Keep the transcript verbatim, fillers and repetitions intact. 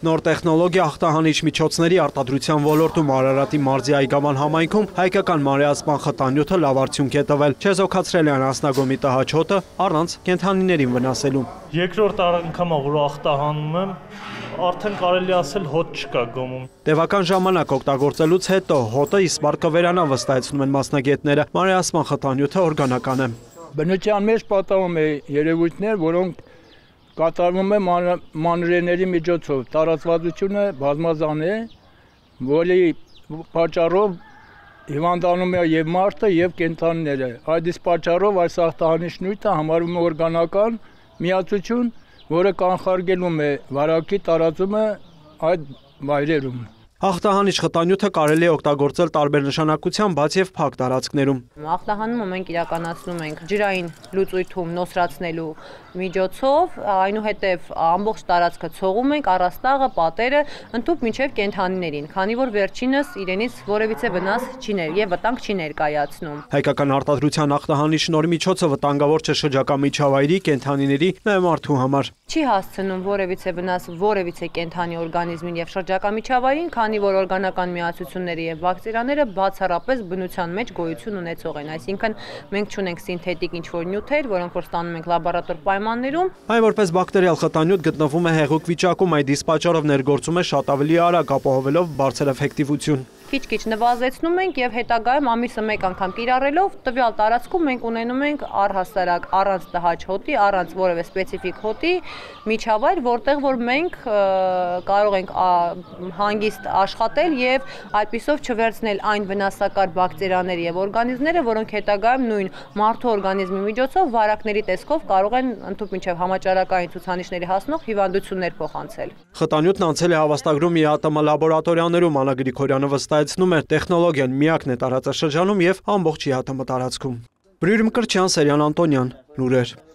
Նոր տեխնոլոգիա ախտահանիչ միջոցների արտադրության ոլորտում Արարատի մարզի Այգաման համայնքում հայկական մանրէասպան խտանյութը լավ արդյունք է տվել, չեզոքացրել են անասնագոմի տհաճ հոտը առանց կենդանիներին վնասելու։ Երկրորդ անգամ որ ախտահանում եմ, արդեն կարելի ասել հոտ չկա գոմում։ Տևական ժամանակ օգտագործելուց հետո հոտը իսպառ կվերանա, վստահեցնում են մասնագետները։ Մանրէասպան խտանյութը օրգանական է։ Բնության մեջ պատահում է երևույթներ, որոնք կատարվում է մանրէների միջոցով, տարածվածությունը բազմազան է, որի պատճառով հիվանդանում է եւ մարդը եւ կենդանիները։ Այդ իսկ պատճառով այս ախտահանիչ նյութը համարվում է օրգանական միացություն, որը կանխարգելում է վարակի տարածումը այդ վայրերում։ Ախտահանիչ խտանյութը կարելի է օգտագործել տարբեր նշանակությամբ, բաց եւ փակ տարածքներում։ Ախտահանումը մենք իրականացնում ենք ջրային լուծույթում նոսրացնելու միջոցով, այնուհետև ամբողջ տարածքը ցողում ենք, առաստաղը, պատերը, ընդհանուր մինչև կենդանիներին, քանի որ վերջինս իրենից որևիցե վնաս չի ներ եւ վտանգ չի ներկայացնում։ Հայկական արտադրության ախտահանիչ նոր միջոցը վտանգավոր չէ շրջակա միջավայրի, կենդանիների, նաեւ մարդու համար։ Չի հասցնում որևիցե վնաս որևիցե կենդանի օրգանիզմին եւ շրջակա միջավայրին, քանի որ օրգանական միացությունները եւ բակտերիաները բացառապես բնության մեջ գոյություն ունեցող են, այսինքն մենք չունենք սինթետիկ ինչ-որ նյութեր, որոնք որ ստանում ենք լաբորատոր պայմաններում։ Այն որպես բակտերիալ խտանյութ գտնվում է հեղուկ վիճակում, այդ իսկ պատճառով ներգործում է շատ ավելի արագ, ապահովելով բարձր էֆեկտիվություն։ Քիչ-քիչ նվազեցնում ենք եւ հետագայում ամիսը մեկ անգամ կիրառելով տվյալ տարածքում մենք ունենում ենք առհասարակ առանց տհաճ հոտի, առանց որևէ սպეციფიկ հոտի միջավայր, որտեղ որ մենք կարող ենք հանգիստ աշխատել եւ այդպիսով չվերցնել այն վնասակար բակտերիաները եւ օրգանիզմները, որոնք հետագայում նույն մարդու օրգանիզմի միջոցով վարակների տեսքով կարող են ընդհանուր մինչեւ համաճարակային ցուցանիշների հասնող հիվանդություններ փոխանցել։ Խտանյութն անցել է հավաստագրում ԻԱՏՄ լաբորատորիաներում, Անա Գրիգորյանը վստահեցնում է, տեխնոլոգիան միակն է տարածաշրջանում եւ ամբողջ ԻԱՏՄ տարածքում։ Բրյուրմ Կրչյան, Սերյան Անտոնյան, լուրեր։